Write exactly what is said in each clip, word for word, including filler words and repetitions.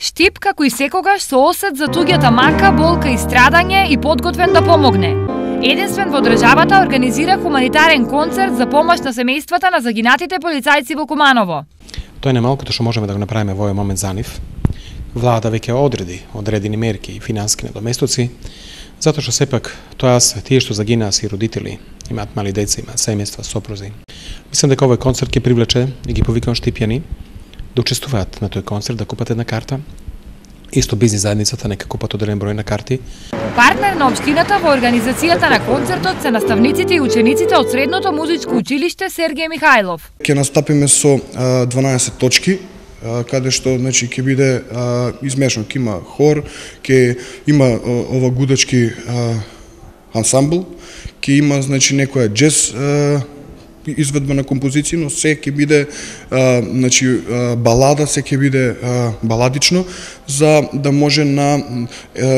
Штип како и секогаш со осет за туѓата мака, болка и страдање и подготвен да помогне. Единствен во државата организира хуманитарен концерт за помош на семејствата на загинатите полицајци во Куманово. Тоа е најмалкото што можеме да го направиме во овој момент за нив. Влада веќе одреди одредени мерки и финански недоместоци, затоа што сепак тоа се тие што загинаа се родители, имаат мали деца, имаат семејства, сопрузи. Мислам дека овој концерт ќе привлече и ги повикам штипјани да учествуваат на тој концерт, да купат една карта. Исто бизнис заедницата нека купат одреден број на карти. Партнер на општината во организацијата на концертот се наставниците и учениците од Средното музичко училиште Сергеј Михајлов. Ќе настапиме со дванаесет точки, каде што значи ќе биде измешано, ќе има хор, ќе има ова гудачки ансамбл, ќе има значи некоја џез изведба на композиција, но се ќе биде а, значи а, балада, се ќе биде а, баладично, за да може на а,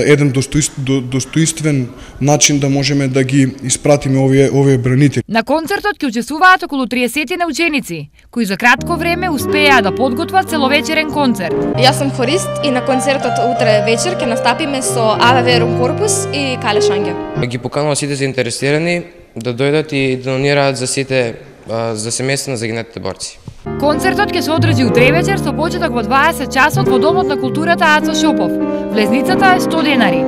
еден достоинств, до, достоинствен начин да можеме да ги испратиме овие овие бранители. На концертот ќе учествуваат околу триесет на ученици, кои за кратко време успеа да подготват целовечерен концерт. Јас сум хорист и на концертот утре вечер ќе настапиме со АВ Верум Корпус и Кале Шанге. Ги поканувам сите заинтересирани да дојдат и да донираат за сите за семејства на загинатите борци. Концертот ќе се одржи утре вечер со почеток во дваесет часот во Домот на културата Ацо Шопов. Влезницата е сто денари.